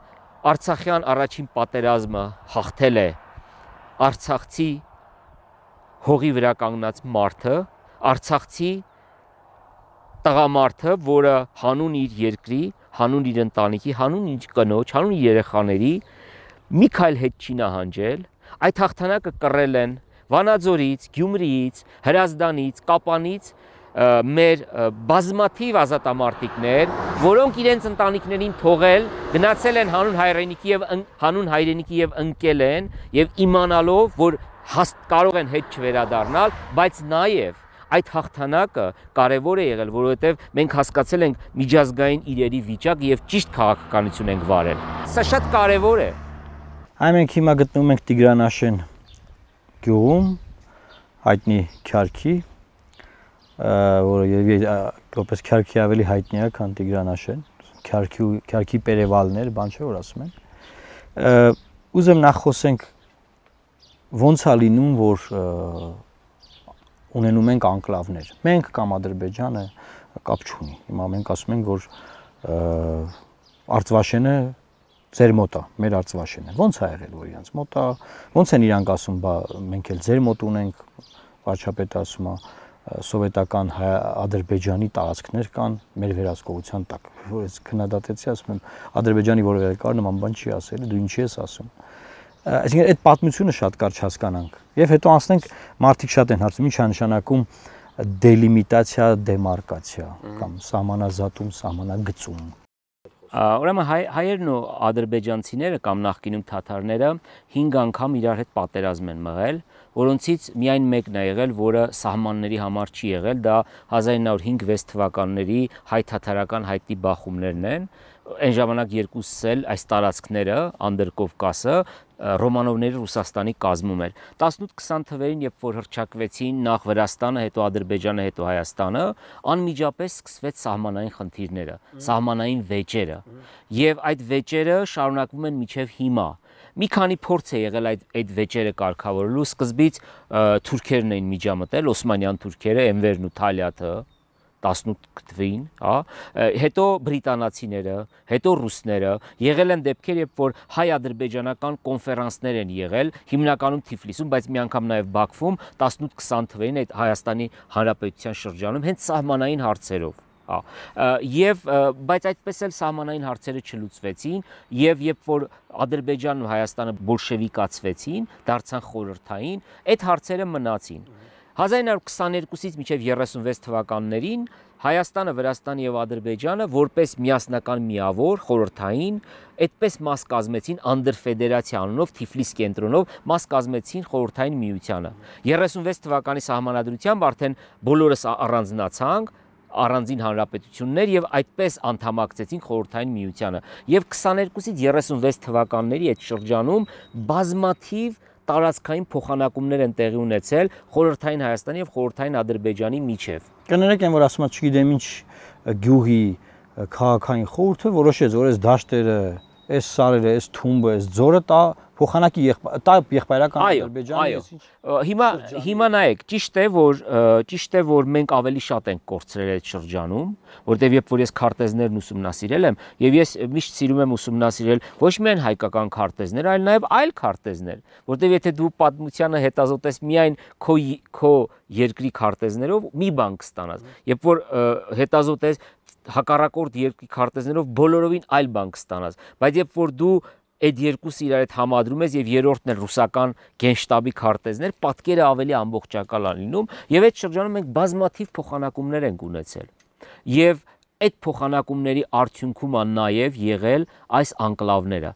Արցախյան առաջին պատերազմը հաղթել է Արցախցի հողի վրա կանգնած մարդը, Արցախցի տղամարդը, որը հանուն իր երկրի, հանուն իր ընտանիքի, հանուն իր կնոջ, հանուն իր երեխաների մի քայլ հետ չի նահանջել, այդ հաղթանակը կռել են Վանաձորից, Գյումրիից, Հրազդանից, Կապանից մեր բազմաթիվ ազատամարտիկներ, որոնք իրենց ընտանիքներին թողել, գնացել են հանուն հայրենիքի եւ հանուն հայրենիքի եւ ընկել են եւ իմանալով, որ կարող են հետ չվերադառնալ, բայց նաեւ այդ հաղթանակը կարևոր է եղել, որովհետեւ մենք հասկացել ենք միջազգային իրերի վիճակ եւ ճիշտ քաղաքականություն ենք վարել։ Սա շատ կարևոր է։ Այ մենք հիմա գտնվում ենք Տիգրանաշեն գյուղում, հայտնի Քյարքի, որը որպես Քյարքի ավելի հայտնի է, քան Տիգրանաշեն, Քյարքի Քյարքի պերևալներ, բան չէ որ ասում են։ Ուզեմ նախ խոսենք ոնց է լինում, որ ունենում ենք անկլավներ։ Մենք կամ Ադրբեջանը կապ չունի։ Հիմա մենք ասում ենք, որ Արցվաշենը ձեր մոտ է, մեր Արցվաշենը։ Ոնց է եղել, որ իրանց մոտ է, ոնց են իրանք ասում, բա մենք էլ ձեր մոտ ունենք, վարչապետը ասում է, սովետական Ադրբեջանի տարածքներ կան մեր վերահսկողության տակ։ Որ ես քննադատեցի, ասում եմ, Ադրբեջանի որևէ կար նման բան չի ասել, դու ինչի ես ասում։ Այսինքն այդ պատմությունը շատ կարճ հասկանանք։ Եվ հետո անցնենք, մարդիկ շատ են հարցում, ինչ է նշանակում դելիմիտացիա, դեմարկացիա կամ սահմանազատում, սահմանագծում։ Ուրեմն հայերն ու ադրբեջանցիները կամ նախկինում թաթարները հինգ անգամ իրար հետ պատերազմ են մղել, որոնցից միայն մեկն է եղել, որը սահմանների համար չի եղել, դա հազար ինը հինգ վեց թվականների հայ-թաթարական հայտի բախումներն են։ Այն ժամանակ երկուսս էլ այս տարածքները, Անդրկովկասը, Ռոմանովների Ռուսաստանի կազմում էր։ տասնութ քսան թվերին, երբ որ հռչակվեցին նախ Վրաստանը, հետո Ադրբեջանը, հետո Հայաստանը, անմիջապես սկսվեց սահմանային խնդիրները, սահմանային վեճերը։ Եվ այդ վեճերը շարունակվում են մինչև հիմա։ Մի քանի փորձ է եղել այդ այդ վեճերը կարգավորելու, սկզբից թուրքերն էին միջամտել, օսմանյան թուրքերը, Էնվերն ու Թալյաթը, տասնութ թվին, հա, հետո բրիտանացիները, հետո ռուսները, եղել են դեպքեր, երբ որ հայ-ադրբեջանական կոնֆերանսներ են եղել, հիմնականում Թիֆլիսում, բայց մի անգամ նաև Բաքվում, տասնութ քսան թվերին այդ Հայաստանի Հանրապետության շրջանում հենց սահմանային հարցերով։ Եվ բայց այդպես էլ սահմանային հարցերը չլուծվեցին, եւ երբ որ Ադրբեջանն ու Հայաստանը բոլշևիկացվեցին, դարձան խորհրդային, այդ հարցերը մնացին։ հազար ինը քսաներկուսից մինչև երեսունվեց թվականներին Հայաստանը, Վրաստանը եւ Ադրբեջանը որպես միասնական միավոր խորհրդային այդպես մաս կազմեցին անդրֆեդերացիա անունով Թիֆլիս կենտրոնով մաս կազմեցին խորհրդային միությանը։ երեսունվեց թվականի սահմանադրությամբ արդեն բոլորս առանձնացանք առանձին հանրապետություններ եւ այդպես անդամակցեցին խորհրդային միությանը։ Եվ քսաներկուսից երեսունվեց թվականների այդ շրջանում բազմաթիվ տարածքային փոխանակումներ են տեղի ունեցել խորհրդային Հայաստանի եւ խորհրդային Ադրբեջանի միջև։ Կներեք են, որ ասում եմ, չգիտեմ ինչ գյուղի քաղաքային խորհուրդը որոշեց, որ այս դաշտերը, այս սարերը, այս թումբը, այս ձորը տա փոխանակի տա եղբայրական Ադրբեջանի։ Հիմա հիմա նայեք, ճիշտ է, որ ճիշտ է, որ մենք ավելի շատ ենք կորցրել այդ շրջանում, որտեղ երբ որ ես քարտեզներն ուսումնասիրել եմ, եւ ես միշտ սիրում եմ ուսումնասիրել ոչ միայն հայկական քարտեզներ, այլ նաեւ այլ քարտեզներ, որտեղ եթե դու պատմությանը հետազոտես միայն քո քո երկրի քարտեզներով, մի բան կստանաս, երբ որ հետազոտես հակառակորդ երկրի քարտեզներով բոլորովին այլ բան կստանաս, բայց երբ որ դու այդ երկուսը իրար հետ համադրում ես եւ երրորդն էլ ռուսական գենշտաբի քարտեզներ, պատկերը ավելի ամբողջական է լինում եւ այդ շրջանում մենք բազմաթիվ փոխանակումներ ենք ունեցել։ Եվ այդ փոխանակումների արդյունքում է նաեւ եղել այս անկլավները։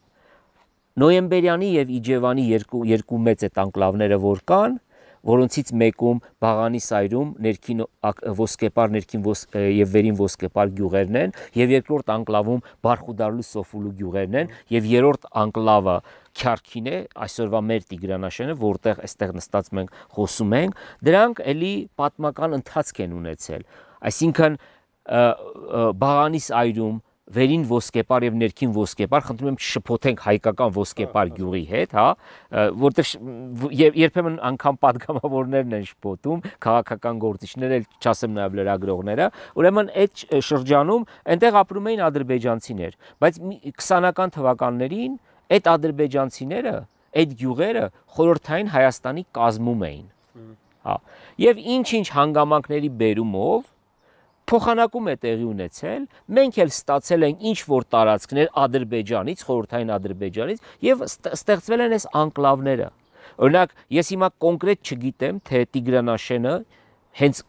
Նոյեմբերյանի եւ Իջևանի երկու երկու մեծ այդ անկլավները որ կան, որոնցից մեկում Բաղանի սայրում ներքին ոսկեպար, ներքին եւ վերին ոսկեպար գյուղերն են, եւ երկրորդ անկլավում Բարխուդարլու Սոֆուլու գյուղերն են, եւ երրորդ անկլավը Քյարքին է, այսօրվա մեր Տիգրանաշենը, որտեղ այստեղ նստած մենք խոսում ենք, դրանք էլի պատմական ընթացք են ունեցել։ Այսինքն Բաղանի սայրում վերին ոսկեպար եւ ներքին ոսկեպար, խնդրում եմ չշփոթենք հայկական ոսկեպար գյուղի հետ, հա, որտեղ երբեմն անգամ падգամավորներն են շփոթում, քաղաքական գործիչները, չասեմ նաեւ լրագրողները, ուրեմն այդ շրջանում այնտեղ ապրում էին ադրբեջանցիներ, բայց քսանական թվականներին այդ ադրբեջանցիները, այդ գյուղերը խորհրդային Հայաստանի կազմում էին, հա, եւ ինչ-ինչ հանգամանքների բերումով փոխանակում է տեղի ունեցել, մենք էլ ստացել ենք ինչ որ տարածքներ Ադրբեջանից, խորհրդային Ադրբեջանից եւ ստեղծվել են այս անկլավները։ Օրինակ, ես հիմա կոնկրետ չգիտեմ, թե Տիգրանաշենը հենց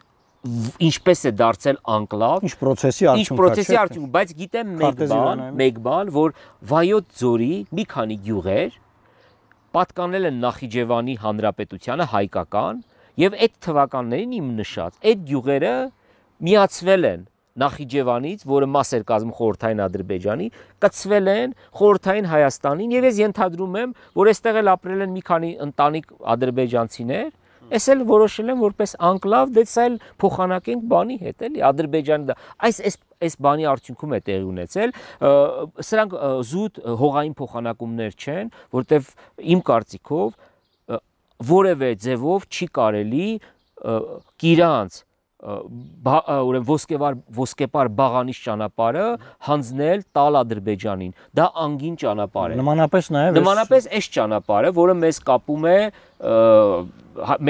ինչպես է դարձել անկլավ, ինչ process-ի արդյունք, ինչ process-ի արդյունք, բայց գիտեմ մեկ բան, մեկ բան, որ Վայոց ձորի մի քանի գյուղեր պատկանել են Նախիջևանի Հանրապետությանը հայկական եւ այդ թվականներին իմ նշած այդ գյուղերը միացվել են Նախիջևանից, որը մաս էր կազմում խորհրդային Ադրբեջանի, կցվել են խորհրդային Հայաստանին եւ ես ենթադրում եմ, որ այստեղ էլ ապրել են մի քանի ընտանիք ադրբեջանցիներ, այս էլ որոշել են որպես անկլավ, դե սա էլ փոխանակենք բանի հետ էլի Ադրբեջանի այս այս այս բանի արդյունքում է տեղի ունեցել, սրանք զուտ հողային փոխանակումներ չեն, որտեվ իմ կարծիքով որևէ ձևով չի կարելի Կիրանց ուրեմն ոսկեվար ոսկեպար բաղանիշ ճանապարհը հանձնել տալ Ադրբեջանին, դա անգին ճանապարհ է։ Նմանապես նաև նմանապես այս ճանապարհը, որը մեզ կապում է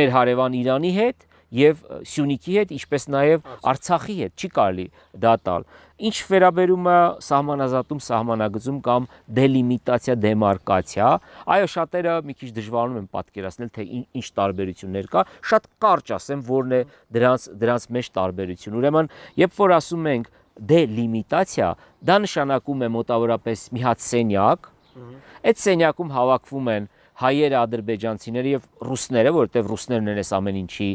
մեր հարևան Իրանի հետ եւ Սյունիքի հետ, ինչպես նաեւ Արցախի հետ, չի կարելի դա տալ։ Ինչ վերաբերում է սահմանազատում, սահմանագծում կամ դելիմիտացիա, դեմարկացիա, այո, շատերը մի քիչ դժվարանում են պատկերացնել, թե ինչ տարբերություններ կա, շատ կարճ ասեմ, որն է դրանց դրանց մեջ տարբերություն։ Ուրեմն, երբ որ ասում ենք դելիմիտացիա, դա նշանակում է մոտավորապես մի հատ սենյակ, այդ սենյակում հավաքվում են հայերը, ադրբեջանցիները եւ ռուսները, որովհետեւ ռուսներն են այս ամեն ինչի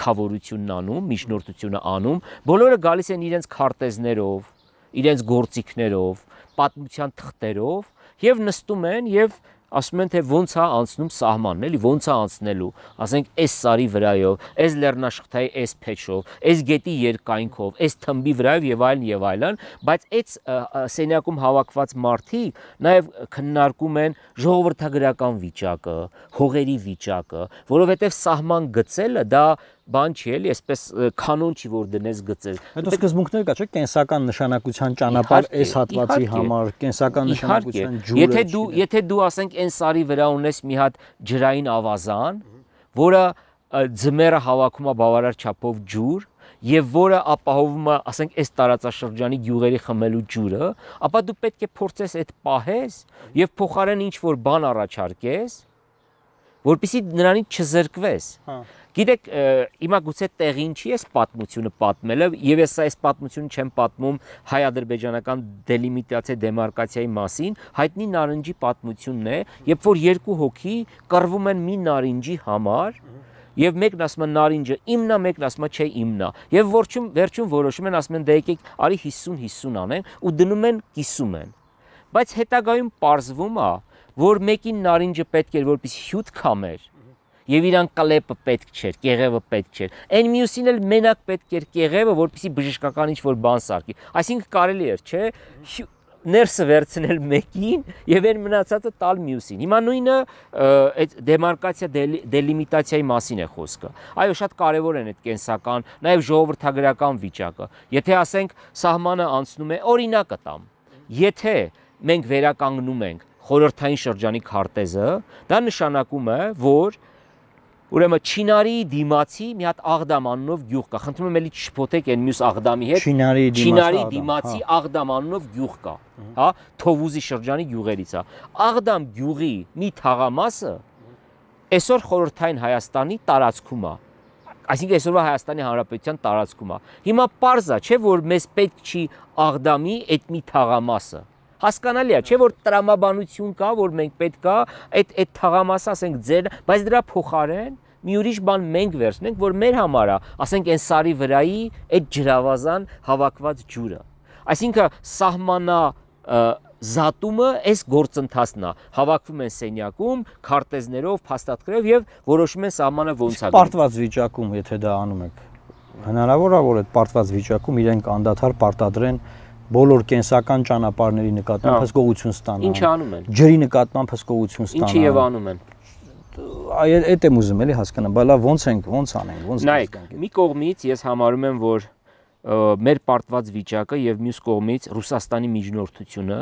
քավորությունն անում, միջնորդությունը անում, բոլորը գալիս են իրենց քարտեզներով, իրենց գործիքներով, պատմության թղթերով եւ նստում են եւ ասում են թե ոնց է անցնում սահմանն, էլի ոնց է անցնելու, ասենք այս սարի վրայով, այս լեռնաշխթայի այս փեչով, այս գետի երկայնքով, այս թմբի վրայով եւ այլն եւ այլն, բայց այդ սենյակում հավաքված մարդիկ նաեւ քննարկում են ժողովրդագրական վիճակը, հողերի վիճակը, որովհետեւ սահման գծելը դա բան չի էլի, այսպես կանոն չի որ դնես գծել։ Հետո սկզբունքներ կա, չէ՞, կենսական նշանակության ճանապարհ այս հատվածի համար, կենսական նշանակության ջուրը։ Եթե դու, եթե դու ասենք այն սարի վրա ունես մի հատ ջրային ավազան, որը ձմեռը հավաքում է բավարար չափով ջուր, եւ որը ապահովում է, ասենք, այս տարածաշրջանի գյուղերի խմելու ջուրը, ապա դու պետք է փորձես այդ պահես եւ փոխարեն ինչ որ բան առաջարկես, որպեսզի նրանից չզրկվես։ Գիտեք, հիմա գուցե տեղին չի այս պատմությունը պատմելը, եւ ես այս պատմությունը չեմ պատմում հայ-ադրբեջանական դելիմիտացիա, դեմարկացիայի մասին, հայտնի նարնջի պատմությունն է, երբ որ երկու հոգի կռվում են մի նարինջի համար, եւ մեկն ասում է նարինջը իմն է, մեկն ասում է չէ իմն է, եւ վերջում վերջում որոշում են, ասում են դե եկեք արի հիսուն հիսուն անենք ու դնում են կիսում են։ Բայց հետագայում պարզվում է, որ մեկին նարինջը պետք էր որպեսզի հյութ քամեր, եւ իրան կլեպը պետք չէր, կեղևը պետք չէր։ Այն մյուսին էլ մենակ պետք էր կեղևը, որպեսզի բժշկական ինչ-որ բան սարքի։ Այսինքն կարելի էր, չէ, ներսը վերցնել մեկին եւ այն մնացածը տալ մյուսին։ Հիմա նույնը այդ դեմարկացիա, դելիմիտացիայի մասին է խոսքը։ Այո, շատ կարեւոր են այդ կենսական, նաեւ ժողովրդագրական վիճակը։ Եթե ասենք սահմանը անցնում է, օրինակը տամ։ Եթե մենք վերականգնում ենք խորհրդային շրջանի քարտեզը, դա նշանակում է, որ ուրեմն Չինարի դիմացի մի հատ Աղդամ անունով գյուղ կա։ Խնդրում եմ էլի չփոթեք այն մյուս Աղդամի հետ։ Չինարի դիմացի Աղդամ անունով գյուղ կա, հա, Թովուզի շրջանի գյուղերից է։ Աղդամ գյուղի մի թաղամասը այսօր խորհրդային Հայաստանի տարածքում է։ Այսինքն այսօրվա Հայաստանի Հանրապետության տարածքում է։ Հիմա պարզ է, չէ, որ մեզ պետք չի Աղդամի այդ մի թաղամասը։ Հասկանալի է, չէ, որ տրամաբանություն կա, որ մենք պետք է այդ այդ թաղամասը, ասենք, ձեր, բայց դրա փոխարեն մի ուրիշ բան մենք վերցնենք, որ մեր համար է, ասենք, այն սարի վրայի այդ ջրավազան հավաքված ջուրը։ Այսինքն սահմանա զատումը այս գործընթացն է։ Հավաքվում են սենյակում, քարտեզներով, փաստաթղթերով եւ որոշում են սահմանը ոնց է։ Պարտված վիճակում, եթե դա անում եք, հնարավոր է, որ այդ պարտված վիճակում իրենք անդադար պարտադրեն բոլոր կենսական ճանապարհների նկատմամբ հսկողություն ստանան։ Ինչ անում են։ Ջրի նկատմամբ հսկողություն ստանան։ Ինչի եւ անում են։ Այդ այդ եմ ուզում էլի հասկանալ, բայց լավ ո՞նց ենք, ո՞նց անենք, ո՞նց։ Նայեք, մի կողմից ես համարում եմ, որ մեր պարտված վիճակը եւ մյուս կողմից Ռուսաստանի միջնորդությունը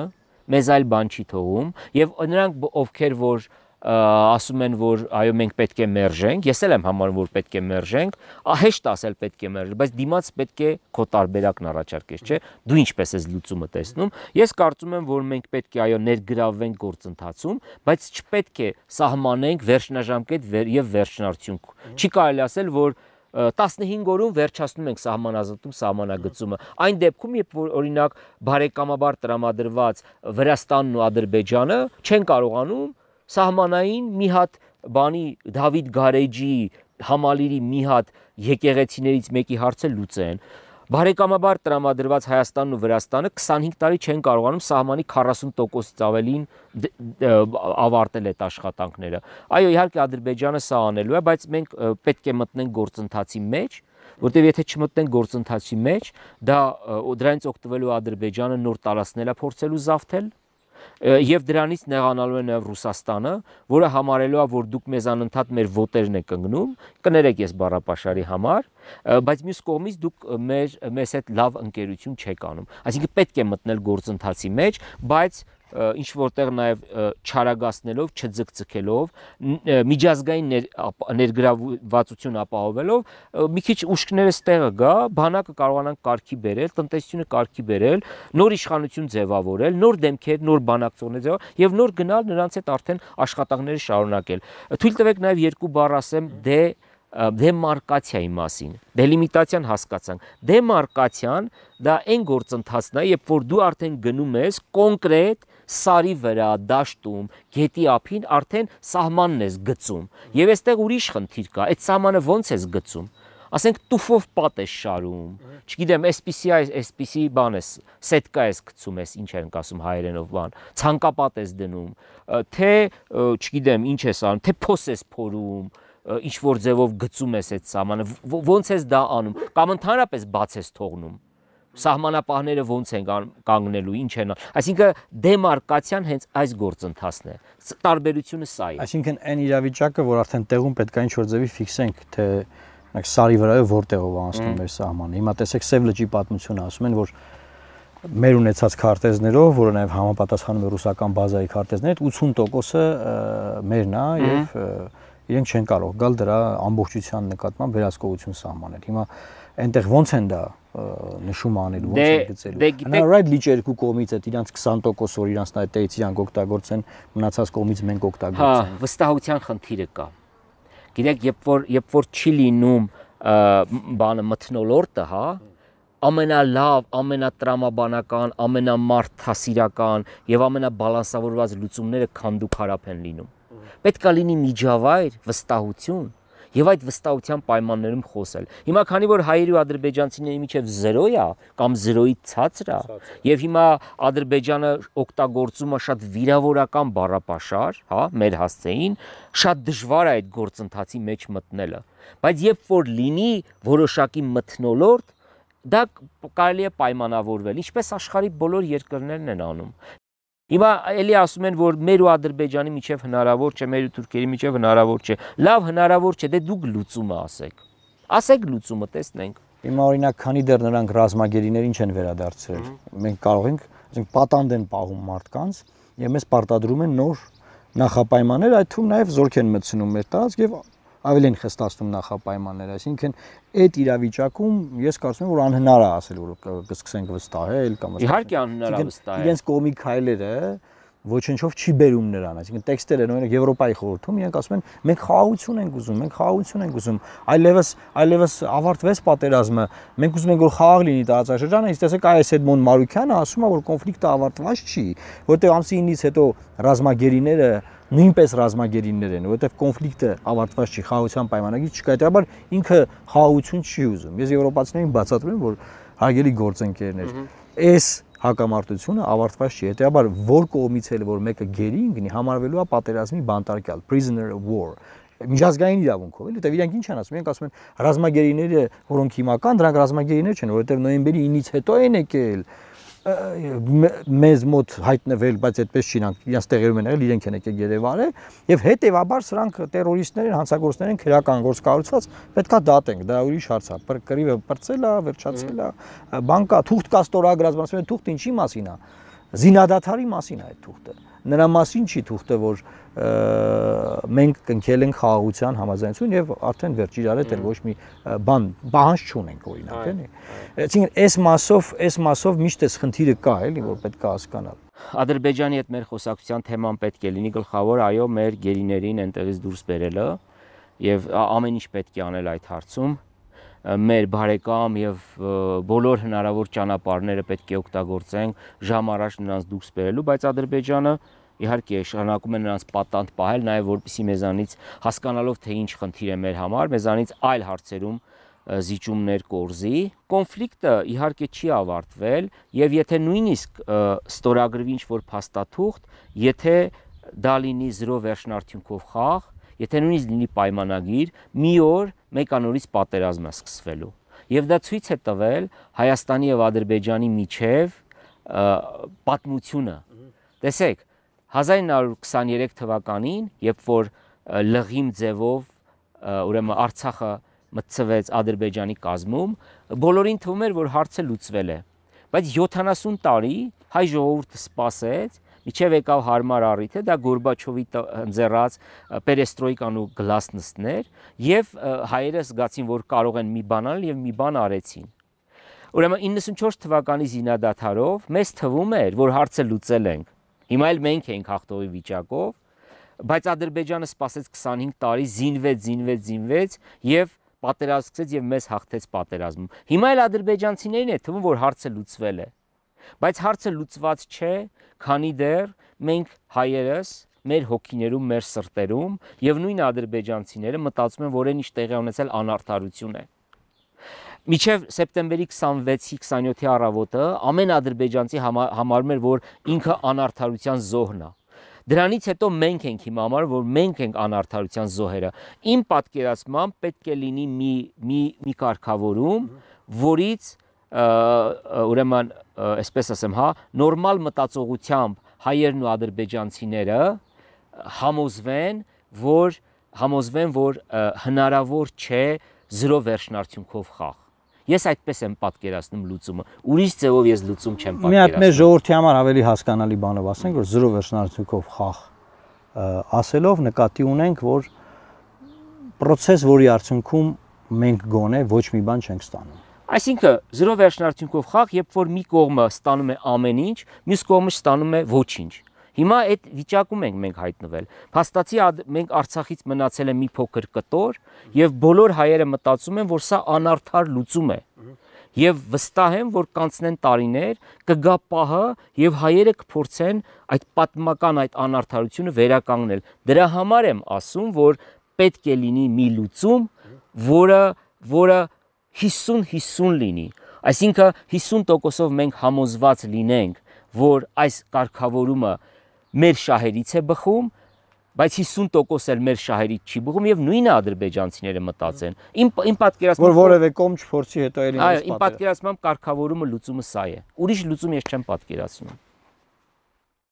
մեզ այլ բան չի թողում եւ նրանք ովքեր որ ասում են, որ այո, մենք պետք է մերժենք, ես էլ եմ համարում, որ պետք է մերժենք, հեշտ ասել պետք է մերժել, բայց դիմաց պետք է քո տարբերակն առաջարկես, չէ՞։ Դու ինչպես ես լուծումը տեսնում։ Ես կարծում եմ, որ մենք պետք է այո ներգրավվենք գործընթացում, բայց չպետք է սահմանենք վերջնաժամկետ եւ վերջնարդյունք։ Չի կարելի ասել, որ տասնհինգ օրում վերջացնում ենք սահմանազատում սահմանագծումը։ Այն դեպքում, երբ որ օրինակ բարեկամաբար տրամադրված Վրաստանն ու Ադրբեջանը չեն կարողանում սահմանային մի հատ բանի Դավիթ Գարեջի համալիրի մի հատ եկեղեցիներից մեկի հարցը լուծեն։ Բարեկամաբար տրամադրված Հայաստանն ու Վրաստանը քսանհինգ տարի չեն կարողանում սահմանի քառասուն տոկոսից ավելին ավարտել այդ աշխատանքները։ Այո, իհարկե Ադրբեջանը սա անելու է, բայց մենք պետք է մտնենք գործընթացի մեջ, որտեղ եթե չմտնենք գործընթացի մեջ, դա դրանից օգտվելու Ադրբեջանը նոր տարածքներ է փորձելու զավթել, եւ դրանից նեղանալու է նաեւ Ռուսաստանը, որը համարելու է, որ դուք մեզ անընդհատ մեր ոտերն եք ընկնում, կներեք ես բառապաշարի համար, բայց մյուս կողմից դուք մեր մեզ հետ լավ ընկերություն չեք անում։ Այսինքն պետք է մտնել գործընթացի մեջ, բայց ինչ որտեղ նաև չարագացնելով, չձգձգելով, միջազգային ներգրավվածություն ապահովելով, մի քիչ ուշքները ստեղը գա, բանակը կարողանան կարգի բերել, տնտեսությունը կարգի բերել, նոր իշխանություն ձևավորել, նոր դեմքեր, նոր բանակցողներ ձևավորել եւ նոր գնալ նրանց հետ արդեն աշխատանքները շարունակել։ Թույլ տվեք նաև երկու բառ ասեմ դե դեմարկացիայի մասին, դելիմիտացիան հասկացանք, դեմարկացիան դա այն գործընթացն է, երբ որ դու արդեն գնում ես կոնկրետ սարի վրա, դաշտում, գետի ափին արդեն սահմանն ես գծում, եւ այստեղ ուրիշ խնդիր կա, այդ սահմանը ոնց ես գծում, ասենք տուֆով պատ ես շարում, չգիտեմ, այսպիսի այսպիսի բան ես, սետկա ես գցում ես, ինչ են ասում հայերենով բան, ցանկապատ ես դնում, թե չգիտեմ, ինչ ես անում, թե փոս ես փորում, ինչ որ ձևով գծում ես այդ սահմանը, ոնց ես դա անում, կամ ընդհանրապես բաց ես թողնում, սահմանապահները ոնց են կանգնելու, ինչ են, այսինքն դեմարկացիան հենց այս գործընթացն է, տարբերությունը սա է։ Այսինքն այն իրավիճակը, որ արդեն տեղում պետք է ինչ-որ ձևի ֆիքսենք, թե սարի վրայով որտեղով անցնում մեր սահմանը։ Հիմա տեսեք Սև լճի պատմությունը, ասում են, որ մեր ունեցած քարտեզներով, որը նաև համապատասխանում է ռուսական բազայի քարտեզների, ութսուն տոկոսը մերն է եւ իրենք չեն կարող գալ դրա ամբողջության նկատմամբ վերահսկողություն սահմանել։ Հիմա այնտեղ ոնց են դա նշում անելու, ոնց են գծելու։ Հնարավոր լիճ երկու կողմից այդ իրանց քսան տոկոս որ իրանց այդտեղից իրանք օգտագործեն, մնացած կողմից մենք օգտագործենք։ Հա, վստահության խնդիրը կա։ Գիտեք, երբ որ երբ որ չի լինում բանը մթնոլորտը, հա, ամենալավ, ամենատրամաբանական, ամենամարդասիրական եւ ամենաբալանսավորված լուծումները քանդուկ հարապ են լինում։ Պետք է լինի միջավայր, վստահություն եւ այդ վստահության պայմաններում խոսել։ Հիմա քանի որ հայերի ու ադրբեջանցիների միջև զրո է կամ զրոյից ցածր է եւ հիմա Ադրբեջանը օգտագործում է շատ վիրավորական բառապաշար, հա, մեր հասցեին, շատ դժվար է այդ գործընթացի մեջ մտնելը։ Բայց երբ որ լինի որոշակի մթնոլորտ, դա կարելի է պայմանավորվել, ինչպես աշխարհի բոլոր երկրներն են անում։ Հիմա էլի ասում են, որ մեր ու Ադրբեջանի միջև հնարավոր չէ, մեր ու թուրքերի միջև հնարավոր չէ։ Լավ, հնարավոր չէ, դե դուք լուծումը ասեք։ Ասեք լուծումը, տեսնենք։ Հիմա օրինակ, քանի դեռ նրանք ռազմագերիներին չեն վերադարձրել, մենք կարող ենք, ասենք, պատանդ են պահում մարդկանց եւ մեզ պարտադրում են նոր նախապայմաններ, այդ թվում նաեւ զորք են մտցնում մեր տարածք եւ ավելի են խստացնում նախապայմանները, այսինքն այդ իրավիճակում ես կարծում եմ, որ անհնար է ասել, որ կսկսենք վստահել կամ իհարկե անհնար է վստահել։ Իրենց կողմի քայլերը ոչնչով չի բերում նրան, այսինքն տեքստերը օրինակ Եվրոպայի խորհրդում իրենք ասում են մենք խաղաղություն ենք ուզում, մենք խաղաղություն ենք ուզում, այլևս այլևս ավարտվեց պատերազմը, մենք ուզում ենք որ խաղաղ լինի տարածաշրջանը, իսկ տեսեք այս Էդմոն Մարուկյանը ասում է որ կոնֆլիկտը ավարտված չի, որտեղ ամսի ինից հետո ռազմագերիները նույնպես ռազմագերիներ են, որովհետև կոնֆլիկտը ավարտված չի, խաղաղության պայմանագիր չկա, հետաբար ինքը խաղաղություն չի ուզում։ Ես եվրոպացիներին բացատրում եմ, որ հարգելի գործընկերներ, այս հակամարտությունը ավարտված չի, հետաբար որ կողմից էլ որ մեկը գերի ընկնի, համարվելու է պատերազմի բանտարկյալ, prisoner of war, միջազգային իրավունքով, էլի, դե իրենք ինչ են ասում, իրենք ասում են ռազմագերիները, որոնք հիմա կան, դրանք ռազմագերիներ չեն, որովհետև նոյեմբերի ինից հետո են եկել մեզ մոտ հայտնվել, բայց այդպես չի, իրանք տեղերում են եղել, իրենք են եկել գերեվարել եւ հետեւաբար սրանք տերորիստներ են, հանցագործներ են, քրեական գործ կառուցված, պետքա դատենք, դա ուրիշ հարց է, կռիվը բրծել է, վերջացել է, բան կա, թուղթ կա ստորագրած, ասում են թուղթ ինչի մասին է, զինադադարի մասին է այդ թուղթը, նրա մասին չի թուղթը, որ մենք կնքել ենք խաղաղության համաձայնություն եւ արդեն վերջ իրար հետ էլ ոչ մի բան պահանջ չունենք օրինակ էլի։ Այսինքն այս մասով, այս մասով միշտ էս խնդիրը կա էլի, որ պետք է հասկանալ։ Ադրբեջանի հետ մեր խոսակցության թեման պետք է լինի գլխավոր, այո, մեր գերիներին այնտեղից դուրս բերելը եւ ամեն ինչ պետք է անել այդ հարցում։ Մեր բարեկամ եւ բոլոր հնարավոր ճանապարհները պետք է օգտագործենք ժամ առաջ նրանց դուրս բերելու, բայց Ադրբեջանը իհարկե շարունակում է նրանց պատանդ պահել, նաեւ որպեսզի մեզանից հասկանալով թե ինչ խնդիր է մեր համար, մեզանից այլ հարցերում զիջումներ կորզի։ Կոնֆլիկտը իհարկե չի ավարտվել եւ եթե նույնիսկ ստորագրվի ինչ-որ փաստաթուղթ, եթե դա լինի զրո վերջնարդյունքով խաղ, եթե նույնիսկ լինի պայմանագիր, մի օր մեկանորից պատերազմ է սկսվելու։ Եվ դա ցույց է տվել Հայաստանի եւ Ադրբեջանի միջև պատմությունը։ Տեսեք, հազար ինը հարյուր քսաներեք թվականին, երբ որ լղիմ ձևով ուրեմն Արցախը մտցվեց Ադրբեջանի կազմում, բոլորին թվում էր, որ հարցը լուծվել է։ Բայց յոթանասուն տարի հայ ժողովուրդը սպասեց, միջև եկավ հարմար առիթը, դա Գորբաչովի ընձեռած պերեստրոյկան ու գլասնստներ, եւ հայերը զգացին, որ կարող են մի բան անել եւ մի բան արեցին։ Ուրեմն իննսունչորս թվականի զինադադարով մեզ թվում էր, որ հարցը լուծել ենք։ Հիմա էլ մենք ենք հաղթողի վիճակով, բայց Ադրբեջանը սպասեց քսանհինգ տարի, զինվեց, զինվեց, զինվեց եւ պատերազմ սկսեց եւ մեզ հաղթեց պատերազմում։ Հիմա էլ ադրբեջանցիներին է թվում, որ հարցը լուծվել է։ Բայց հարցը լուծված չէ, քանի դեռ մենք հայերս մեր հոգիներում, մեր սրտերում եւ նույն ադրբեջանցիները մտածում են, որ այն ինչ տեղի ունեցել անարդարություն է։ Միջև սեպտեմբերի քսանվեցի քսանյոթի առավոտը ամեն ադրբեջանցի համարում էր, որ ինքը անարդարության զոհն է։ Դրանից հետո մենք ենք հիմա համար, որ մենք ենք անարդարության զոհերը։ Իմ պատկերացմամբ պետք է լինի մի մի մի կարգավորում, որից ուրեմն, այսպես ասեմ, հա, նորմալ մտածողությամբ հայերն ու ադրբեջանցիները համոզվեն, որ համոզվեն, որ հնարավոր չէ զրո վերջնարդյունքով խաղ։ Ես այդպես եմ պատկերացնում լուծումը։ Ուրիշ ձևով ես լուծում չեմ պատկերացնում։ Մի հատ մեր ժողովրդի համար ավելի հասկանալի բանով ասենք, որ զրո վերջնարդյունքով խաղ ասելով նկատի ունենք, որ process, որի արդյունքում մենք գոնե ոչ մի բան չենք ստանում։ Այսինքն զրո վերջնարդյունքով խաղ, երբ որ մի կողմը ստանում է ամեն ինչ, մյուս կողմը ստանում է ոչինչ։ Հիմա այդ վիճակում ենք մենք հայտնվել։ Փաստացի մենք Արցախից մնացել է մի փոքր կտոր եւ բոլոր հայերը մտածում են, որ սա անարդար լուծում է։ Եվ վստահ եմ, որ կանցնեն տարիներ, կգա պահը եւ հայերը կփորձեն այդ պատմական այդ անարդարությունը վերականգնել։ Դրա համար եմ ասում, որ պետք է լինի մի լուծում, որը որը հիսուն հիսուն լինի։ Այսինքն հիսուն տոկոսով մենք համոզված լինենք, որ այս կարգավորումը մեր շահերից է բխում, բայց հիսուն տոկոս էլ մեր շահերից չի բխում եւ նույնը ադրբեջանցիները մտածեն։ Իմ իմ պատկերացմամբ որ որևէ կողմ չփորձի հետո էլի։ Այո, իմ պատկերացմամբ կարգավորումը լուծումը սա է։ Ուրիշ լուծում ես չեմ պատկերացնում։